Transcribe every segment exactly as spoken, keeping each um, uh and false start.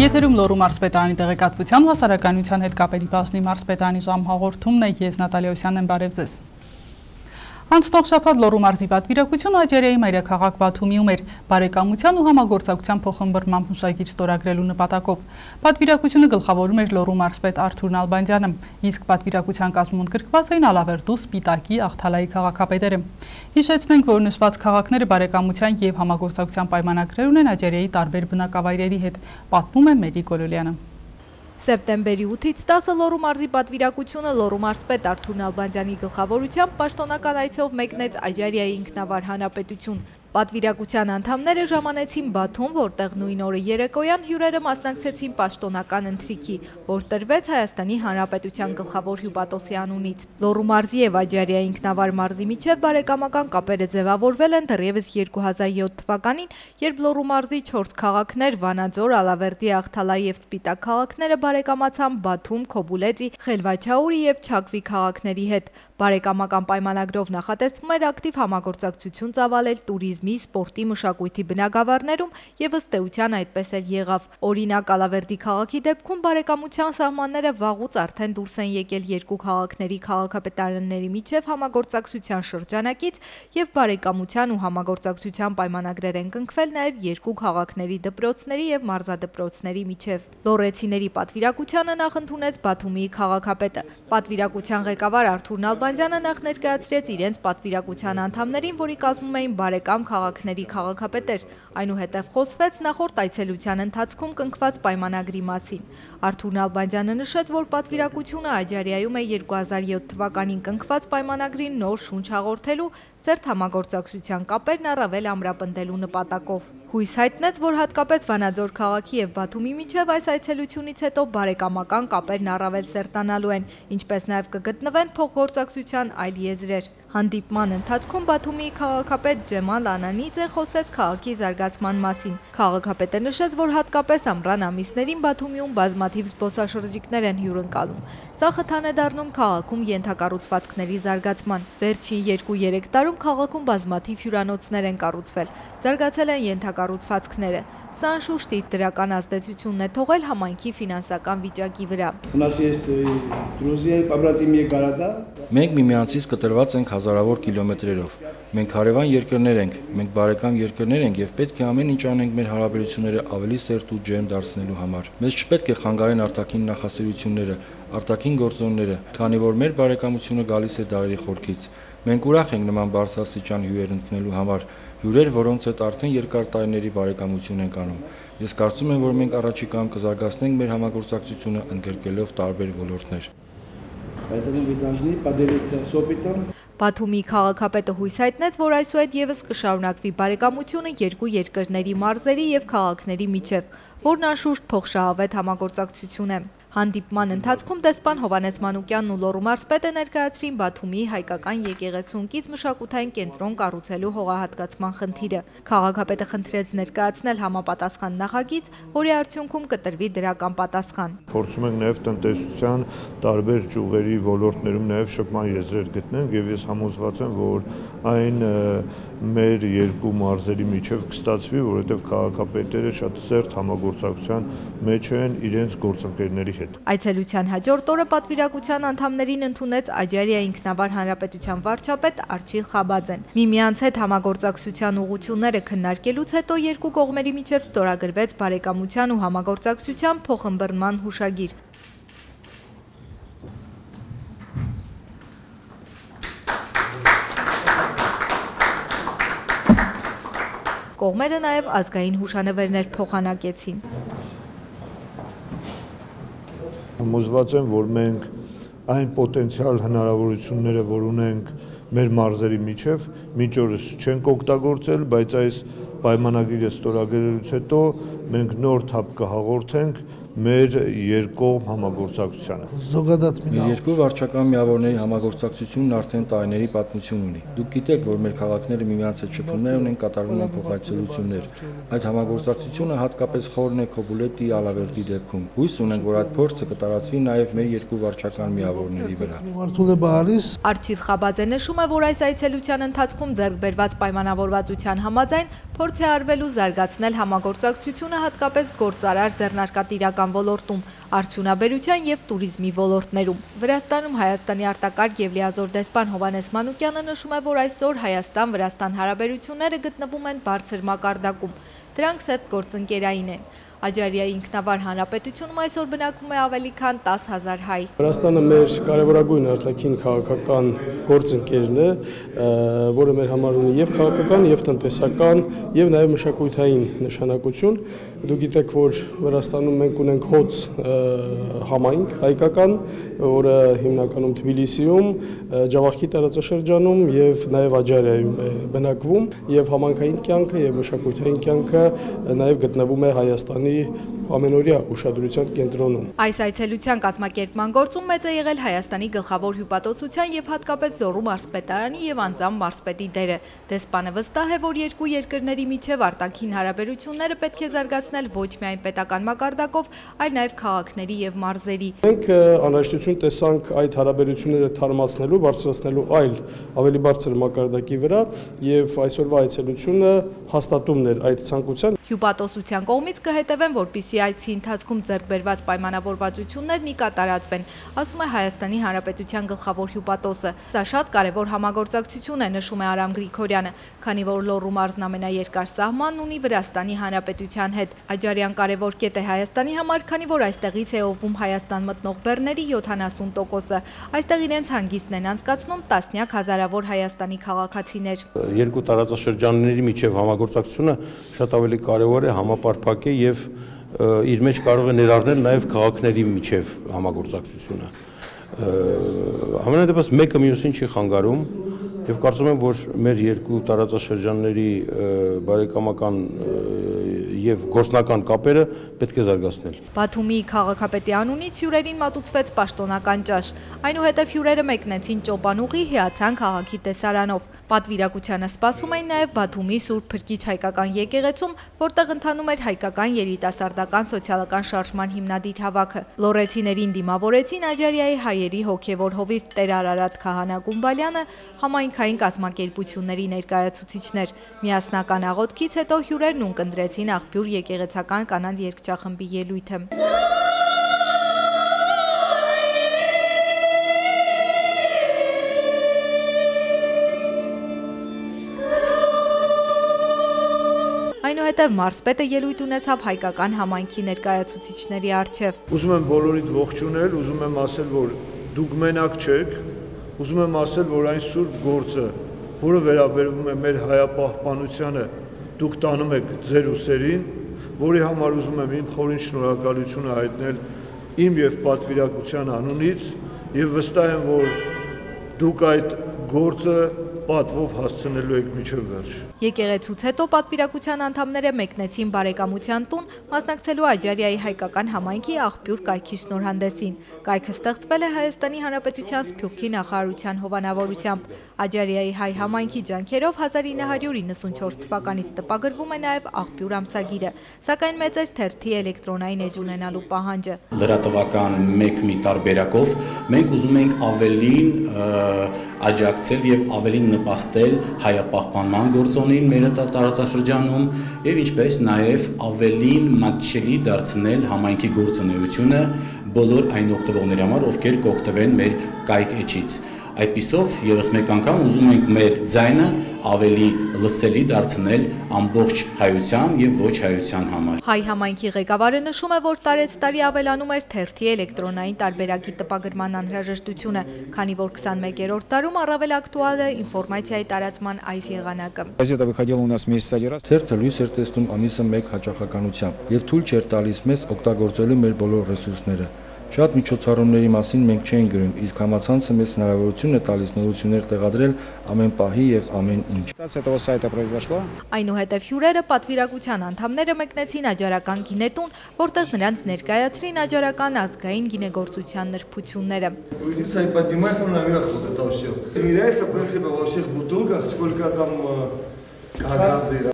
Եթերում Լոռու մարզպետարանի տեղեկատվության ու հասարակայնության հետ կապերի բաժնի մարզպետարանի ժամ հաղորդումն է, ես Նատալիա Օսյանն եմ, բարև ձեզ։ Անցնող շաբաթ Լոռու մարզի պատվիրակությունը Աջարիայի մայրաքաղաք Բաթումիում էր բարեկամության ու համագործակցության փոխըմբռնման հուշագիր ստորագրելու նպատակով։ Պատվիրակությունը գլխավորում էր Լոռու մարզպետ Արթուր Նալբանդյանը, իսկ պատվիրակության կազմում ընդգրկված էին Ալավերդու, Սպիտակի, Աղթալայի քաղաքապետերը։ Հիշեցնենք, որ նշված քաղաքները բարեկամության և համագործակցության պայմանագրեր ունեն Աջարիայի տարբեր բնակավայրերի հետ, պատմում է Մերի Գոլոլյանը։ Սեպտեմբերի ութից տասը Լոռու մարզի պատվիրակությունը Լոռու մարզպետ Արթուր Նալբանդյանի գլխավորությամբ պաշտոնական այցով մեկնեց Աջարիայի ինքնավար հանրապետություն։ Պատվիրակության անդամները ժամանեցին Բաթում, որտեղ նույն օրը երեկոյան հյուրերը մասնակցեցին պաշտոնական ընթրիքի, որ տրվեց Հայաստանի Հանրապետության գլխավոր հյուպատոսի անունից։ Լոռու մարզի և Աջարիայի ինքնավար մարզի միջև բարեկամական կապերը ձևավորվել են դեռևս երկու հազար յոթ թվականին, երբ Լոռու մարզի չորս քաղաքներ Վանաձոր, Ալավերդի, Աղթալայի և Սպիտակ քաղաքները բարեկամացան Բաթում, Քոբուլեծի, Խելվաչաուրի և Չակվի քաղաքների հետ։ Բարեկամական պայմանագրով նախատեսվում էր ակտիվ համագործակցություն ծավալել տուրիզմի, սպորտի, մշակույթի բնագավառներում և ըստ էության այդպես էլ եղավ։ Օրինակ, Ալավերդի քաղաքի դեպքում բարեկամության սահմանները վաղուց արդեն դուրս են եկել երկու քաղաքների քաղաքապետարանների միջև համագործակցության շրջանակից և բարեկամության ու համագործակցության պայմանագրեր են կնքվել նաև երկու քաղաքների դպրոցների և մարզադպրոցների միջև։ Լոռեցիների պատվիրակությանը նախ ընդունեց Բաթումի քաղաքապետը։ Պատվիրակության ղեկավար Արթուր Նալբանդյանը նախ ներկայացրեց իրենց պատվիրակության անդամներին, որի կազմում էին բարեկամ քաղաքների քաղաքապետեր։ Այնուհետև խոսվեց նախորդ այցելության ընթացքում կնքված պայմանագրի մասին։ Արթուր Նալբանդյանը նշեց, որ պատվիրակությունը Աջարիայում է երկու հազար յոթ թվականին կնքված պայմանագրին նոր շունչ հաղորդելու, ծերտ համագործակցության կապերն առավել ամրապնդելու նպատակով։ Հույս հայտնեց, որ հատկապես Վանաձոր քաղաքի և Բաթումի միջև այս այցելությունից հետո բարեկամական կապերն առավել սերտանալու են, ինչպես նաև կգտնվեն փոխգործակցության այլ եզրեր։ Հանդիպման ընթացքում Բաթումի քաղաքապետ Ջեմալ Անանիձը խոսեց քաղաքի զարգացման մասին։ Քաղաքապետը նշեց, որ հատկապես ամռան ամիսներին Բաթումիում բազմաթիվ զբոսաշրջիկներ են հյուրընկալում։ Սա խթան է դառնում քաղաքում ենթակառուցվածքների զարգացման։ Վերջին երկու-երեք տարում քաղաքում բազմաթիվ հյուրանոցներ են կառուցվել, զարգացել են ենթակառուցվածքները։ Սա անշուշտ իր դրական ազդեցությունն է թողել համայնքի ֆինանսական վիճակի վրա։ Մենք միմյանցից կտրված ենք հազարավոր կիլոմետրերով։ Մենք հարևան երկրներ ենք, մենք բարեկամ երկրներ ենք և պետք է ամեն ինչ անենք մեր հարաբերությունները ավելի սերտ ու ջերմ դարձնելու համար։ Մեզ չպետք է խանգարեն արտաքին նախասիրությունները, արտաքին գործոնները, քանի որ մեր բարեկամությունը գալիս է դարերի խորքից։ Մենք ուրախ ենք նման բարձրաստիճան հյուրեր ընդունելու համար, հյուրեր, որոնց հետ արդեն երկար տարիների բարեկամություն ենք անում։ Ես կարծում եմ, որ մենք առաջիկայում կզարգացնենք մեր համագործակցությունը ընդգրկելով տարբեր ոլորտներ։ Բաթումի քաղաքապետը հույս հայտնեց, որ այսուհետ ևս կշարունակվի բարեկամությունը երկու երկրների մարզերի և քաղաքների միջև, որն անշուշտ փոխշահավետ համագործակցություն է։ Հանդիպման ընթացքում դեսպան Հովհաննես Մանուկյանն ու Լոռու մարզպետը ներկայացրին Բաթումի հայկական եկեղեցուն կից մշակութային կենտրոն կառուցելու հողահատկացման խնդիրը։ Քաղաքապետը խնդրեց ներկայացնել համապատասխան նախագիծ, որի արդյունքում կտրվի դրական պատասխան։ Փորձում ենք նաև տնտեսության տարբեր ճյուղերի ոլորտներում նաև շփման եզրեր գտնենք և ես համոզված եմ, որ այն մեր երկու մարզերի միջև կստացվի, որովհետև քաղաքապետերը շատ սերտ համագործակցության մեջ են իրենց գործընկերների հետ։ Այցելության հաջորդ օրը պատվիրակության անդամներին ընդունեց Աջարիայի ինքնավար հանրապետության վարչապետ Արչիլ Խաբաձեն։ Միմյանց հետ համագործակցության ուղղությունները քննարկելուց հետո երկու կողմերի միջև ստորագրվեց բարեկամության ու համագործակցության փոխըմբռնման հուշագիր։ Կողմերը նաև ազգային հուշանվերներ փոխանակեցին։ Համոզված եմ, որ մենք այն պոտենցիալ հնարավորությունները, որ ունենք մեր մարզերի միջև, մինչ օրս չենք օգտագործել, բայց այս պայմանագիրը ստորագրելուց հետո մենք նոր թափ կհաղորդենք մեր երկկողմ համագործակցությանը։ Մեր երկու վարչական միավորների համագործակցությունն արդեն տարիների պատմություն ունի։ Դուք գիտեք, որ մեր քաղաքները միմյանց հետ շփումներ ունեն, կատարվում են փոխայցելություններ։ Այդ համագործակցությունը հատկապես խորն է Քոբուլետի Ալավերդի դեպքում։ Հույս ունենք, որ այդ փորձը կտարածվի նաև մեր երկու վարչական միավորների վրա։ Արչիվ Խաբաձը նշում է, որ այս այցելության ընթացքում ձեռք բերված պայմանավորվածության համաձայն փորձ է արվել ու զարգացնել համագործակցությունը հատկապես գործարար ձեռնարկատիրական ոլորտում, արդյունաբերության և տուրիզմի ոլորտներում։ Վրաստանում Հայաստանի արտակարգ և լիազոր դեսպան Հովհաննես Մանուկյանը նշում է, որ այսօր Հայաստան-Վրաստան հարաբերությունները գտնվում են բարձր մակարդակում։ Դրանք սերտ գործընկերային են։ Աջարիայի ինքնավար հանրապետությունում այսօր բնակվում է ավելի քան տասը հազար հայ։ Վրաստանը մեր կարևորագույն արտաքին քաղաքական գործընկերն է, որը մեր համար ունի և քաղաքական, և տնտեսական, և նաև մշակութային նշանակություն։ Դուք գիտեք, որ Վրաստանում մենք ունենք հոծ համայնք հայկական, որը հիմնականում Թբիլիսիում, Ջավախքի տարածաշրջանում և նաև Աջարիայում է բնակվում, և համայնքային կյանքը և մշակութային կյանքը նաև գտնվում է Հայաստանի ամենօրյա ուշադրության կենտրոնում։ Այս այցելության կազմակերպման գործում մեծ է եղել Հայաստանի գլխավոր հյուպատոսության և հատկապես Լոռու մարզպետարանի և անձամբ մարզպետի դերը։ Դեսպանը վստահ է, որ երկու երկրների միջև արտաքին հարաբերությունները պետք է զարգացնել ոչ միայն պետական մակարդակով, այլ նաև քաղաքների և մարզերի։ Մենք անհրաժեշտություն տեսանք այդ հարաբերությունները թարմացնելու, բարձրացնելու այլ ավելի բարձր մակարդակի վրա, և այսօրվա այցելությունը հաստատումն էր այդ ցանկության։ Հյուպատոսության կողմից կհետևեն, որպեսզի այցի ընթացքում ձեռք բերված պայմանավորվածություններն ի կատարածվեն, ասում է Հայաստանի Հանրապետության գլխավոր հյուպատոսը։ Սա շատ կարևոր համագործակցություն է, նշում է Արամ Գրիգորյանը, քանի որ Լոռու մարզն ամենաերկար սահմանն ունի Վրաստանի Հանրապետության հետ։ Աջարիան կարևոր կետ է Հայաստանի համար, քանի որ այստեղից է օվում Հայաստան մտնող բեռների յոթանասուն տոկոսը։ Այստեղ իրենց հանգիստն են անցկացնում տասնյակ հազարավոր Հայաստանի քաղաքացիներ։ Երկու տարածաշրջանների միջև համագործակցությունը շատ ավելի կարևոր է, համապարփակ է և իր մեջ կարող է ներառնել նաև քաղաքների միջև համագործակցությունը։ Համենայն դեպս մեկը մյուսին չի խանգարում և կարծում եմ, որ մեր երկու տարածաշրջանների բարեկամական և գործնական կապերը պետք է զարգացնել։ Բաթումիի քաղաքապետի անունից հյուրերին մատուցվեց պաշտոնական ճաշ։ Այնուհետև հյուրերը մեկնեցին Ճոպանուղի հիացան քաղաքի տեսարանով։ Պատվիրակությանը սպասում էին նաև Բաթումի Սուրբ Փրկիչ հայկական եկեղեցում, որտեղ ընթանում էր հայկական երիտասարդական սոցիալական շարժման հիմնադիր հավաքը։ Լոռեցիներին դիմավորեցին Աջարիայի հայերի հոգևոր հովիվ Տեր Արարատ Քահանա Գումբալյանը, համայնքային կազմակերպությունների ներկայացուցիչներ։ Միասնական աղոթքից հետո հյուրերն ունկնդրեցին Աղբյուր եկեղեցական կանանց երգչախմբի ելույթը։ Այնուհետև մարզպետը ելույթ ունեցավ հայկական համայնքի ներկայացուցիչների առջև։ Ուզում եմ բոլորիդ ողջունել, ուզում եմ ասել, որ դուք մենակ չեք, ուզում եմ ասել, որ այն սուրբ գործը, որը վերաբերվում է մեր հայապահպանությանը, դուք տանում եք ձեր ուսերին, որի համար ուզում եմ իմ խորին շնորհակալությունը հայտնել իմ և պատվիրակության անունից և վստահ եմ, որ դուք այդ գործը պատվով հասցնելու եք մինչև վերջ։ Եկեղեցուց հետո պատվիրակության անդամները մեկնեցին բարեկամության տուն, մասնակցելու Աջարիայի հայկական համայնքի Աղբյուր կայքի շնորհանդեսին։ Կայքը ստեղծվել է Հայաստանի Հանրապետության Սփյուռքի նախարարության հովանավորությամբ։ Աջարիայի հայ համայնքի ջանքերով հազար ինը հարյուր իննսունչորս թվականից տպագրվում է նաև Աղբյուր ամսագիրը, սակայն մեծ էր թերթի էլեկտրոնային էջ ունենալու պահանջը։ Լրատվական մեկ մի տարբերակով մենք ուզում ենք ավելին աջակցել և ավելին նպաստել հայապահպանման գործոնին մեր տարածաշրջանում և ինչպես նաև ավելին մատչելի դարձնել համայնքի գործունեությունը բոլոր այն օգտվողների համար, ովքեր կօգտվեն մեր կայք էջից։ Այդպիսով ևս մեկ անգամ ուզում ենք մեր ձայնը ավելի լսելի դարձնել ամբողջ հայության և ոչ հայության համար։ Հայ համայնքի ղեկավարը նշում է, որ տարեց տարի ավելանում էր թերթի էլեկտրոնային տարբերակի տպագրման անհրաժեշտությունը, քանի որ քսանմեկերորդ դարում առավել ակտուալ է ինֆորմացիայի տարածման այս եղանակը։ Թերթը լույս էր տեսնում ամիսը մեկ հաճախականությամբ և թույլ չէր տալիս մեզ օգտագործելու մեր բոլոր ռեսուրսները։ Շատ միջոցառումների մասին մենք չենք գրում, իսկ համացանցը մեզ հնարավորություն է տալիս նորություններ տեղադրել ամեն պահի եւ ամեն ինչ։ Այնուհետև հյուրերը պատվիրակության անդամները մեկնեցին Աջարական գինետուն, որտեղ նրանց ներկայացրին աջարական ազգային գինեգործության նրբությունները։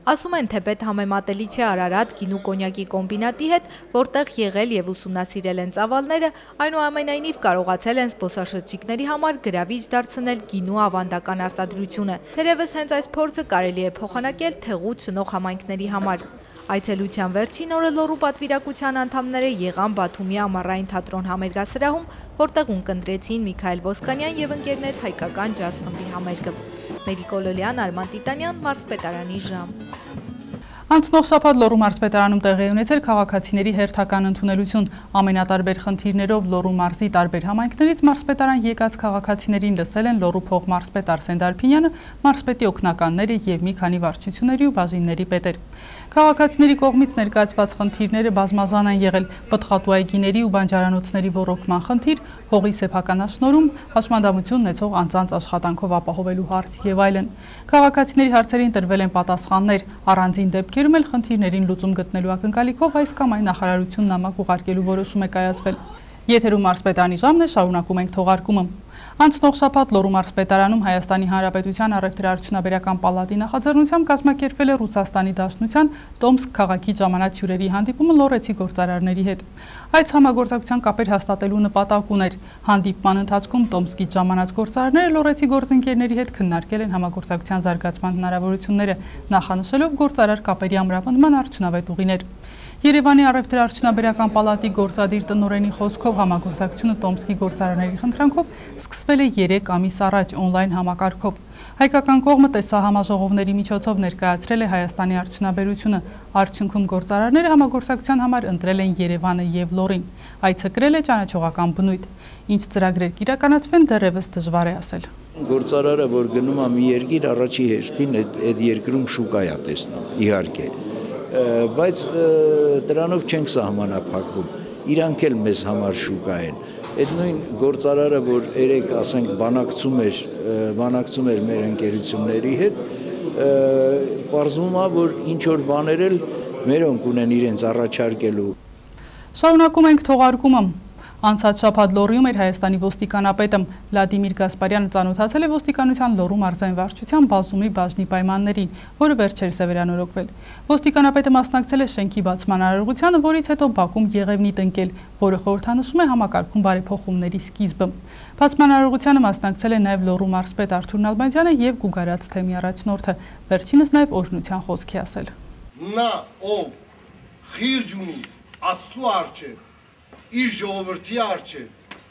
Ասում են, թեպետ համեմատելի չէ Արարատ գինու կոնյակի կոմբինատի հետ, որտեղ եղել եւ ուսումնասիրել են ծավալները, այնուամենայնիվ կարողացել են զբոսաշրջիկների համար գրավիչ դարձնել գինու ավանդական արտադրությունը։ Թերևս հենց այս փորձը կարելի է փոխանակել Թեղուտ շնող համայնքների համար։ Այցելության վերջին օրը Լոռու պատվիրակության անդամները եղան Բաթումի ամառային թատրոն համերգասրահում, որտեղ ունկնդրեցին Միքայել Ոսկանյան եւ ընկերներ հայկական ջազ խմբի համերգը։ Մերի Կոլոլյան, Արման Տիտանյան, Մարզպետարանի ժամ։ Անցնող շաբաթ Լոռու մարզպետարանում տեղի ունեցել քաղաքացիների հերթական ընդունելություն։ Ամենատարբեր խնդիրներով Լոռու մարզի տարբեր համայնքներից մարզպետարան եկած քաղաքացիներին լսել են Լոռու փոխմարզպետ Արսեն Դարփինյանը, մարզպետի օգնականները եւ մի քանի վարչությունների ու բաժինների պետեր։ Քաղաքացիների կողմից ներկայացված խնդիրները բազմազան են եղել՝ պտղատու այգիների ու բանջարանոցների ոռոգման խնդիր, հողի սեփականաշնորհում, հաշմանդամություն ունեցող անձանց աշխատանքով ապահովելու հարց եւ այլն։ Քաղաքացիների հարցերին տրվել են պատասխաններ, առանձին դեպքերում էլ խնդիրներին լուծում գտնելու ակնկալիքով այս կամ այն նախարարություն նամակ ուղարկելու որոշում է կայացվել։ Եթերում մարզպետարանի ժամն է, շարունակում ենք թողարկումը։ Անցնող շաբաթ Լոռու մարզպետարանում Հայաստանի Հանրապետության առևտրաարդյունաբերական պալատի նախաձեռնությամբ կազմակերպվել է Ռուսաստանի Դաշնության Տոմսկ քաղաքի ժամանած հյուրերի հանդիպումը լոռեցի գործարարների հետ։ Այս համագործակցության կապեր հաստատելու նպատակ ուներ։ Հանդիպման ընթացքում Տոմսկից ժամանած գործարարները լոռեցի գործընկերների հետ քննարկել են համագործակցության զարգացման հնարավորությունները, նախանշելով գործարար կապերի ամրապնդման արդյունավետ ուղիներ։ Երևանի առևտրաարդյունաբերական պալատի գործադիր տնօրենի խոսքով համագործակցությունը Տոմսկի գործարարների խնդրանքով սկսվել է երեք ամիս առաջ օնլայն համակարգով։ Հայկական կողմը տեսահամաժողովների միջոցով ներկայացրել է Հայաստանի արդյունաբերությունը։ Արդյունքում գործարարները համագործակցության համար ընտրել են Երևանը եւ Լոռին։ Այցը կրել է ճանաչողական բնույթ։ Ինչ ծրագրեր կիրականացվեն, դեռևս դժվար է ասել։ Գործարարը, որ գնում է մի երկիր, առաջի հերթին այդ երկրում շուկա է տեսնում, իհարկե։ Բայց դրանով չենք սահմանափակվում, իրանք էլ մեզ համար շուկա են։ Այդ նույն գործարարը, որ երեք ասենք բանակցում էր, բանակցում էր մեր ընկերությունների հետ, պարզվում է, որ ինչ որ բաներ էլ մերոնք ունեն իրենց առաջարկելու։ Շարունակում ենք թողարկումը։ Անցած շաբաթ Լոռիում էր Հայաստանի ոստիկանապետը Վլադիմիր Գասպարյանը ծանոթացել է ոստիկանության Լոռու մարզային վարչության բազումի բաժնի պայմաններին, որը վերջերս է վերանորոգվել։ Ոստիկանապետը մասնակցել է շենքի բացման արարողությանը, որից հետո Բաքում եղևնի տնկել, որը խորհրդանշում է համակարգում բարեփոխումների սկիզբը։ Բացման արարողությանը մասնակցել է նաև Լոռու մարզպետ Արթուր Նալբանդյանը եւ Գուգարաց թեմի առաջնորդը, վերջինս նաև օրհնության խոսք է ասել։ Նա ով խիղճ ունի Աստծո առջև իր ժողովրդի առջև,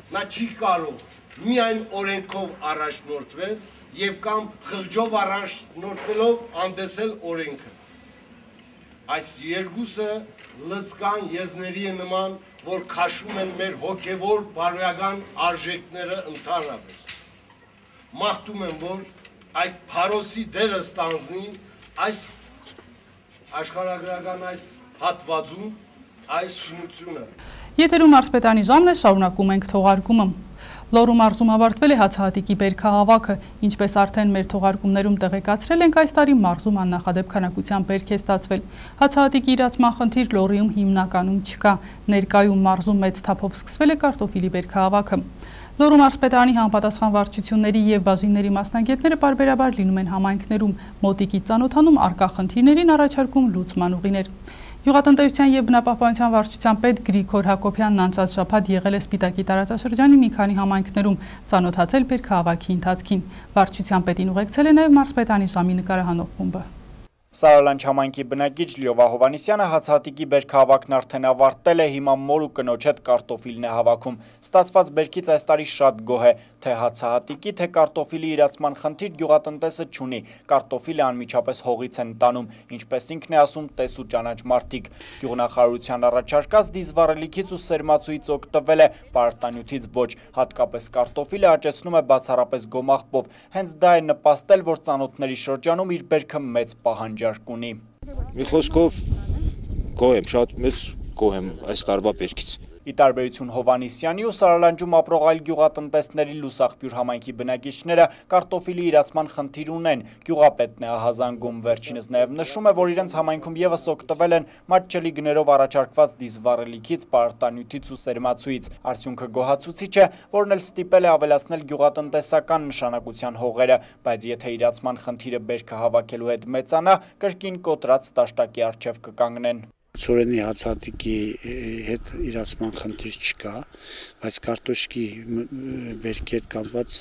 նա չի կարող միայն օրենքով առաջնորդվել եւ կամ խղճով առաջնորդվելով անդեսել օրենքը։ Այս երկուսը լծկան եզների է նման, որ քաշում են մեր հոգևոր բարոյական արժեքները ընդհանրապես։ Մաղթում եմ, որ այդ փարոսի դերը ստանձնի այս աշխարհագրական այս հատվածում այս շինությունը։ Եթերում մարզպետարանի ժամն է, շարունակում ենք թողարկումը։ Լոռու մարզում ավարտվել է հացահատիկի բերքահավաքը, ինչպես արդեն մեր թողարկումներում տեղեկացրել ենք, այս տարի մարզում աննախադեպ քանակությամբ բերք է ստացվել։ Հացահատիկի իրացման խնդիր Լոռիում հիմնականում չկա, ներկայում մարզում մեծ թափով սկսվել է կարտոֆիլի բերքահավաքը։ Լոռու մարզպետարանի համապատասխան վարչությունների եւ բաժինների մասնագետները պարբերաբար լինում են համայնքներում, մոտիկից ծանոթանում առկա խնդիրներին, առաջարկում լուծման ուղիներ։ Գյուղատնտեսության եւ բնապահպանության վարչության պետ Գրիգոր Հակոբյանն անցած շաբաթ եղել է Սպիտակի տարածաշրջանի մի քանի համայնքներում, ծանոթացել բերքահավաքի ընթացքին։ Վարչության պետին ուղեկցել է նաեւ մարզպետարանի ժամի նկարահանող խումբը։ Սարալանջ համայնքի բնակիչ Լիովա Հովհաննիսյանը հացահատիկի բերքահավաքն արդեն ավարտել է, հիմա մոր ու կնոջ հետ կարտոֆիլն է հավաքում։ Ստացված բերքից այս տարի շատ գոհ է, թե հացահատիկի, թե կարտոֆիլի իրացման խնդիր գյուղատնտեսը չունի, կարտոֆիլը անմիջապես հողից են տանում, ինչպես ինքն է ասում, տես ու ճանաչ մարդիկ։ Գյուղնախարարության առաջարկած դիզվառելիքից ու սերմացուից օգտվել է, պարարտանյութից ոչ, հատկապես կարտոֆիլը աճեցնում է բացառապես գոմաղբով, հենց դա է նպաստել, որ ծանոթների շրջանում իր բերքը մեծ պահանջարկ ունի։ Մի խոսքով գոհ եմ, շատ մեծ գոհ եմ այս տարվա բերքից։ Ի տարբերություն Հովանիսյանի ու Սարալանջում ապրող այլ գյուղատնտեսների Լուսաղբյուր համայնքի բնակիչները կարտոֆիլի իրացման խնդիր ունեն, գյուղապետն է ահազանգում, վերջինս նաև նշում է, որ իրենց համայնքում եւս օգտվել են մատչելի գներով առաջարկված դիզվառելիքից, պարտանյութից ու սերմացուից։ Արդյունքը գոհացուցիչ է, որն էլ ստիպել է ավելացնել գյուղատնտեսական նշանակության հողերը, բայց եթե իրացման խնդիրը բերքը հավաքելու հետ մեծանա, կրկին կոտրած դաշտակի առջև կկանգնեն։ Ցորենի հացատիկի հետ իրացման խնդիր չկա, բայց կարտոշկի բերքի հետ կապված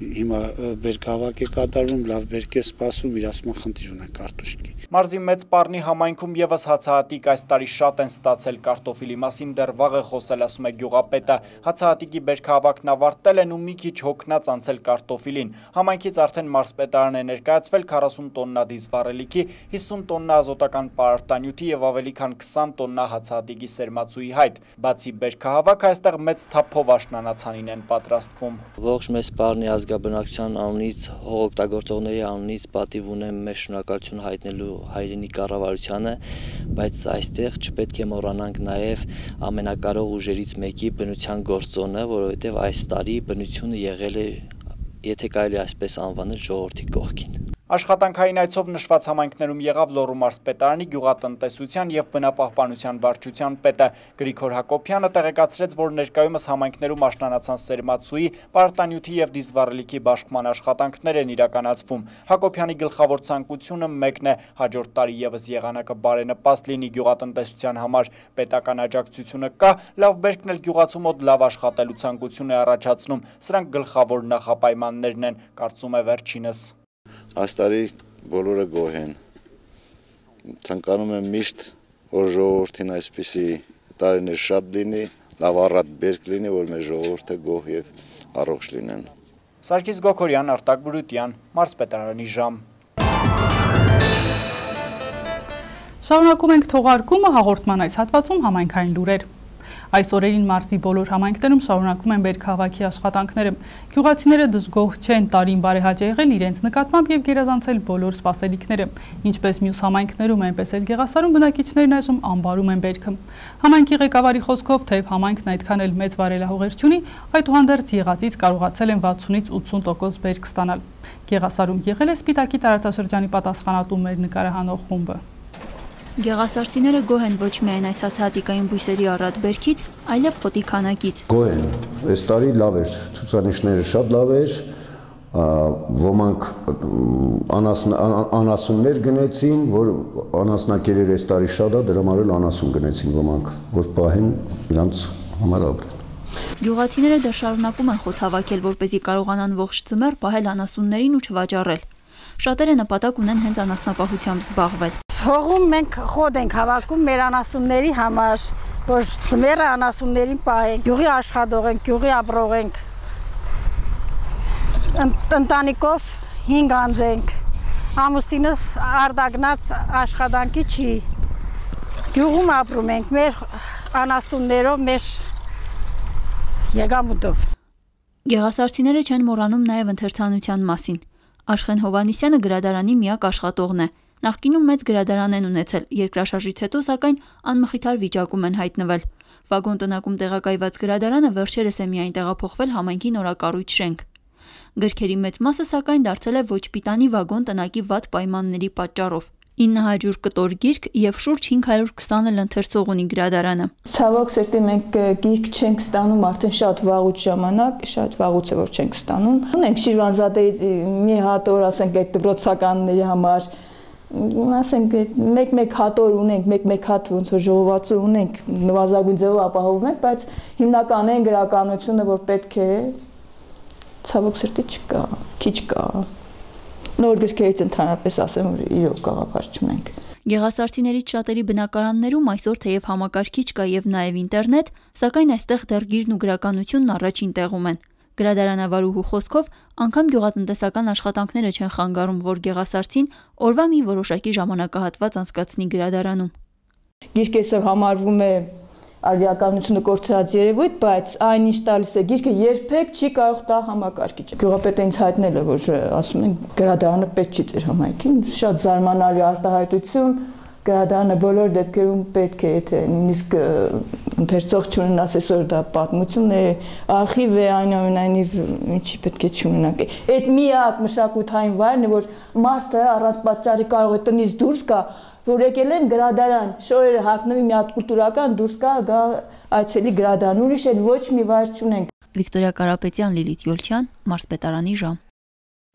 հիմա բերքահավաք է կատարվում, լավ բերք է սպասում, իրացման խնդիր ունեն կարտոշկի։ Մարզի մեծ Պառնի համայնքում եւս հացահատիկ այս տարի շատ են ստացել կարտոֆիլի մասին դեռ վաղ է խոսել, ասում է գյուղապետը։ Հացահատիկի բերքահավաքն ավարտել են ու մի քիչ հոգնած անցել կարտոֆիլին։ Համայնքից արդեն մարզպետարան է ներկայացվել քառասուն տոննա դիզվառելիքի, հիսուն տոննա ազոտական պարարտանյութի եւ ավելի քան քսան տոննա հացահատիկի սերմացուի հայտ։ Բացի բերքահավաքը այստեղ մեծ թափով աշնանացանին են պատրաստվում։ Ողջ մեծ Պառնի ազգաբնակչության անունից, հողօգտագործողների անունից պատիվ ունեմ մեր շնորհակալություն հայտնելու հայրենի կառավարությանը, բայց այստեղ չպետք է մոռանանք նաև ամենակարող ուժերից մեկի բնության գործոնը, որովհետև այս տարի բնությունը եղել է, եթե կարելի այսպես անվանել, ժողովրդի կողքին։ Աշխատանքային այցով նշված համայնքներում եղավ Լոռու մարզպետարանի գյուղատնտեսության եւ բնապահպանության վարչության պետը Գրիգոր Հակոբյանը տեղեկացրեց, որ ներկայումս համայնքներում աշնանացան սերմացուի, պարտանյութի եւ դիզվառելիքի բաշխման աշխատանքներ են իրականացվում։ Հակոբյանի գլխավոր ցանկությունը մեկն է՝ հաջորդ տարի եւս եղանակը բարենպաստ լինի գյուղատնտեսության համար։ Պետական աջակցությունը կա, լավ բերքն էլ գյուղացու մոտ լավ աշխատելու ցանկություն է առաջացնում։ Սրանք գլխավոր նախապայմաններն են, կարծում է վերջինս։ Այս տարի բոլորը գոհ են։ Ցանկանում եմ միշտ, որ ժողովրդին այսպիսի տարիներ շատ լինի, լավ առատ բերք լինի, որ մեր ժողովուրդը գոհ եւ առողջ լինեն։ Սարգիս Գոքորյան, Արտակ Բրուտյան, Մարզպետարանի ժամ։ Շարունակում ենք թողարկումը հաղորդման այս հատվածում համայնքային լուրեր։ Այս օրերին մարզի բոլոր համայնքներում շարունակում են բերքահավաքի աշխատանքները։ Գյուղացիները դժգոհ չեն տարին բարեհաճ եղել իրենց նկատմամբ եւ գերազանցել բոլոր սպասելիքները։ Ինչպես մյուս համայնքներում, այնպես էլ Գեղասարում բնակիչներն այժմ անբարում են բերքը։ Համայնքի ղեկավարի խոսքով, թեև համայնքն այդքան էլ մեծ վարելահողեր չունի, այդուհանդերձ եղածից կարողացել են վաթսունից ութսուն տոկոս բերք ստանալ։ Գեղասարում եղել է Սպիտակի տարածաշրջանի պատասխանատու մեր նկարահանող խումբը։ Գեղասարցիները գոհ են ոչ միայն այս հացահատիկային բույսերի առատ բերքից, այլև խոտի քանակից։ Գոհ են, այս տարի լավ էր, ցուցանիշները շատ լավ էր, ոմանք անասուններ գնեցին, որ անասնակերեր այս տարի շատ է, դրա համար էլ անասուն գնեցին ոմանք, որ պահեն իրանց համար ապրեն։ Գյուղացիները դեռ շարունակում են խոտ հավաքել, որպեսզի կարողանան ողջ ձմեռ պահել անասուններին ու չվաճառել։ Շատերը նպատակ ունեն հենց անասնապահությամբ զբաղվել։ Հողում մենք խոտ ենք հավաքում մեր անասունների համար, որ ձմեռը անասուններին պահենք, գյուղի աշխատող ենք, գյուղի ապրող ենք, ընտանիքով հինգ անձ ենք, ամուսինս արդագնաց աշխատանքի չի, գյուղում ապրում ենք, մեր անասուններով, մեր եկամուտով։ Գեղասարցիները չեն մոռանում նաև ընթերցանության մասին։ Աշխեն Հովանիսյանը գրադարանի միակ աշխատողն է։ Նախկինում մեծ գրադարան են ունեցել, երկրաշարժից հետո սակայն անմխիթար վիճակում են հայտնվել։ Վագոն տնակում տեղակայված գրադարանը վերջերս է միայն տեղափոխվել համայնքի նորակառույց շենք։ Գրքերի մեծ մասը սակայն դարձել է ոչ պիտանի վագոն տնակի վատ պայմանների պատճառով։ ինը հարյուր կտոր գիրք եւ շուրջ հինգ հարյուր քսան էլ ընթերցող ունի գրադարանը։ Ցավոք սերտի մենք գիրք չենք ստանում արդեն շատ վաղուց ժամանակ, շատ վաղուց է որ չենք ստանում։ Ունենք Շիրվանզադեից մի հատ օր, ասենք, այդ դպրոցականների համար, ասենք, մեկ-մեկ հատ օր ունենք, մեկ-մեկ հատ ոնց որ ժողովածու ունենք, նվազագույն ձևով ապահովում ենք, բայց հիմնականային գրականությունը, որ պետք է, ցավոք սերտի չկա, քիչ կա։ Նոր գրքերից ընդհանրապես ասեմ, որ իրոք գաղափար չունենք։ Գեղասարցիներից շատերի բնակարաններում այսօր թեև համակարգիչ կա եւ նաեւ ինտերնետ, սակայն այստեղ դեռ գիրն ու գրականությունն առաջին տեղում են։ Գրադարանավարուհու խոսքով, անգամ գյուղատնտեսական աշխատանքները չեն խանգարում, որ գեղասարցին օրվա մի որոշակի ժամանակահատված անցկացնի գրադարանում։ Գիրքը այսօր համարվում է արդիականությունը կորցրած երևույթ, բայց այն ինչ տալիս է գիրքը երբեք չի կարող տա համակարգիչը։ Գյուղապետը ինձ հայտնել է, որ ասում են գրադարանը պետք չի ձեր համայնքին, շատ զարմանալի արտահայտություն, գրադարանը բոլոր դեպքերում պետք է, եթե նույնիսկ ընթերցող չունեն, ասես որ դա պատմություն է, արխիվ է, այնուամենայնիվ ինչի պետք է չունենանք։ Այդ միակ մշակութային վայրն է, որ մարդը առանց պատճառի կարող է տնից դուրս գա, որ եկել են գրադարան, շորերը հագնվի մի հատ կուլտուրական դուրս գա, գա այցելի գրադարան, ուրիշ էլ ոչ մի վայր չունենք։ Վիկտորիա Կարապետյան, Լիլիթ Յոլչյան, Մարզպետարանի ժամ։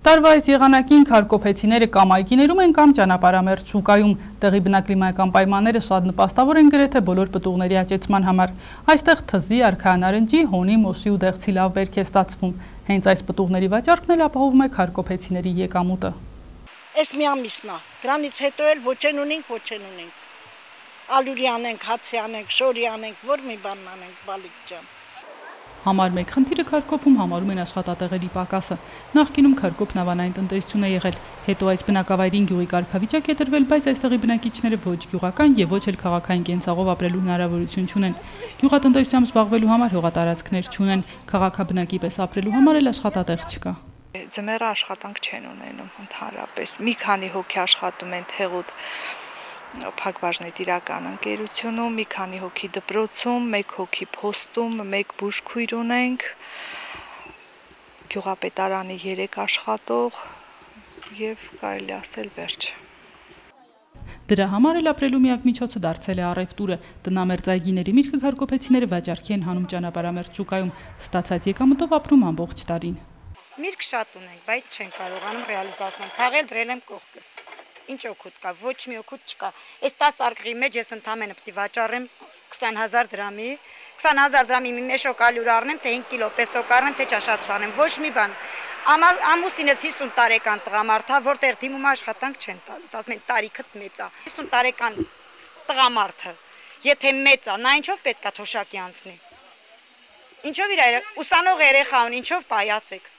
Տարվա այս եղանակին քարկոփեցիները կամ այգիներում են կամ ճանապարհամերձ շուկայում, տեղի բնակլիմայական պայմանները շատ նպաստավոր են գրեթե բոլոր պտուղների աճեցման համար։ Այստեղ թզի, արքայանարնջի, հոնի, մոշի ու դեղցի լավ բերք է ստացվում։ Հենց այս պտուղների վաճառքն էլ ապահովում է քարկոփեցիների եկամուտը։ Այս մի ամիսն է, դրանից հետո էլ ոչ են ունենք, ոչ են ունենք։ Ալուրի անենք, հացի անենք, շորի անենք, որ մի բան անենք, բալիկ ջան։ Համար մեկ խնդիրը քարկոփում համարում են աշխատատեղերի պակասը։ Նախկինում քարկոփն ավանային տնտեսություն է եղել, հետո այս բնակավայրին գյուղի կարգավիճակ է տրվել, բայց այստեղի բնակիչները ոչ գյուղական եւ ոչ էլ քաղաքային կենցաղով ապրելու հնարավորություն չունեն։ Գյուղատնտեսությամբ զբաղվելու համար հողատարածքներ չունեն, քաղաքաբնակի պես ապրելու համար էլ աշխատատեղ չկա։ Ձմեռը աշխատանք չեն ունենում ընդհանրապես։ Մի քանի հոգի աշխատում են Թեղուտ Փակbaşնետիրական ընկերությունում, մի քանի հոգի դպրոցում, մեկ հոգի փոստում, մեկ բուժքույր ունենք, գյուղապետարանի երեք աշխատող եւ կարելի ասել վերջ։ Դրա համար էլ ապրելու միակ միջոցը դարձել է առևտուրը։ Տնամերձ այգիների միրգը քարկոփեցիները վաճառքի են հանում ճանապարհամերձ շուկայում, ստացած եկամուտով ապրում ամբողջ տարին։ Միրգ շատ ունենք, բայց չեն կարողանում ռեալիզացնել։ Քաղել դրել եմ կողքս։ Ինչ օգուտ կա, ոչ մի օգուտ չկա։ Այս տասը արկղի մեջ ես ընդամենը պետք է վաճառեմ քսան հազար դրամի, քսան հազար դրամի մի մեշոկ ալյուր առնեմ, թե հինգ կիլո պեսոկ առնեմ, թե ճաշացու առնեմ, ոչ մի բան։ Ամուսինս հիսուն տարեկան տղամարդ է, որտեղ դիմում աշխատանք չեն տալիս, ասում են տարիքդ մեծ է։ հիսուն տարեկան տղամարդը, եթե մեծ է, նա ինչով պետք է թոշակի անցնի։ Ինչով իր ուսանող երեխա ունի, ինչով պայասեք։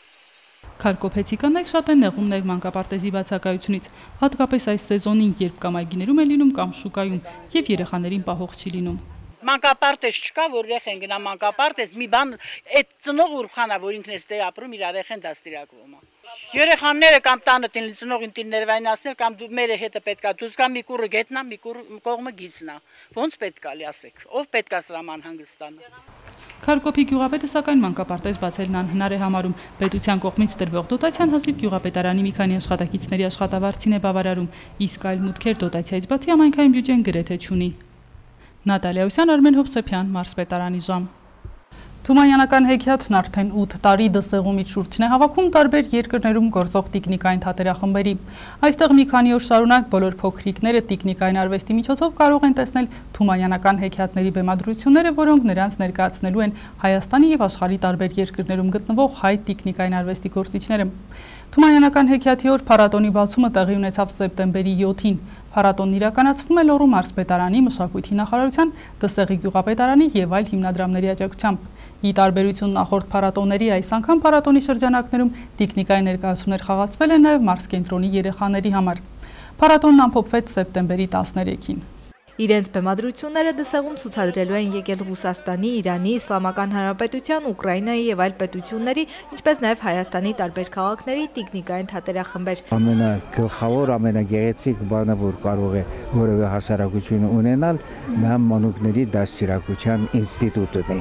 Քարկոփեցիկաններ շատ են նեղում նաև մանկապարտեզի բացակայությունից, հատկապես այս սեզոնին, երբ կամ այգիներում է լինում կամ շուկայում, եւ երեխաներին պահող չի լինում։ Մանկապարտեզ չկա, որ երեխեն գնա մանկապարտեզ, մի բան այդ ծնող ուրխանա, որ ինքն էստե ապրում, իր երեխեն դաստիարակվում է։ Երեխաները կամ տանը տին ծնողին տին ներվայնացնել կամ մերը հետը պետքա դուս կամ մի կուրը գետնա, մի կուր կողմը գիծնա։ Ոնց պետքա լի ասեք, ով պետքա սրաման հանգստանա։ Քարկոփի գյուղապետը սակայն մանկապարտեզ բացելն անհնար է համարում։ Պետության կողմից տրվող դոտացիան հազիվ գյուղապետարանի մի քանի աշխատակիցների աշխատավարձին է բավարարում, իսկ այլ մուտքեր դոտացիայից բացի համայնքային բյուջեն գրեթե չունի։ Նատալիա Ուսյան, Արմեն Հովսեփյան, Մարզպետարանի ժամ։ Թումանյանական հեքիաթն արդեն ութ տարի դսեղումից շուրջն է հավաքում տարբեր երկրներում գործող տիկնիկային թատերախմբերի։ Այստեղ մի քանի օր շարունակ բոլոր փոքրիկները տիկնիկային արվեստի միջոցով կարող են տեսնել թումանյանական հեքիաթների բեմադրությունները, որոնք նրանց ներկայացնելու են Հայաստանի եւ աշխարհի տարբեր երկրներում գտնվող հայ տիկնիկային արվեստի գործիչները։ Թումանյանական հեքիաթի օր փառատոնի բացումը տեղի ունեցավ սեպտեմբերի յոթին։ Փառատոնն իրականացվում է Լոռու մարզպետարանի, մշակույթի նախարարության, Դսեղի գյուղապետարանի եւ այլ հիմնադրամների աջակցությամբ։ Ի տարբերություն նախորդ փառատոների, այս անգամ փառատոնի շրջանակներում տիկնիկայի ներկայացումներ խաղացվել են նաեւ մարզկենտրոնի երեխաների համար։ Փառատոնն ամփոփվեց սեպտեմբերի տասներեքին։ Իրենց բեմադրությունները Դսեղում ցուցադրելու են եկել Ռուսաստանի, Իրանի, Իսլամական Հանրապետության, Ուկրաինայի եւ այլ պետությունների, ինչպես նաեւ Հայաստանի տարբեր քաղաքների տիկնիկային թատերախմբեր։ Ամենագլխավոր, ամենագեղեցիկ բանը, որ կարող է որևէ հասարակություն ունենալ, նա մանուկների դաստիարակության ինստիտուտն է։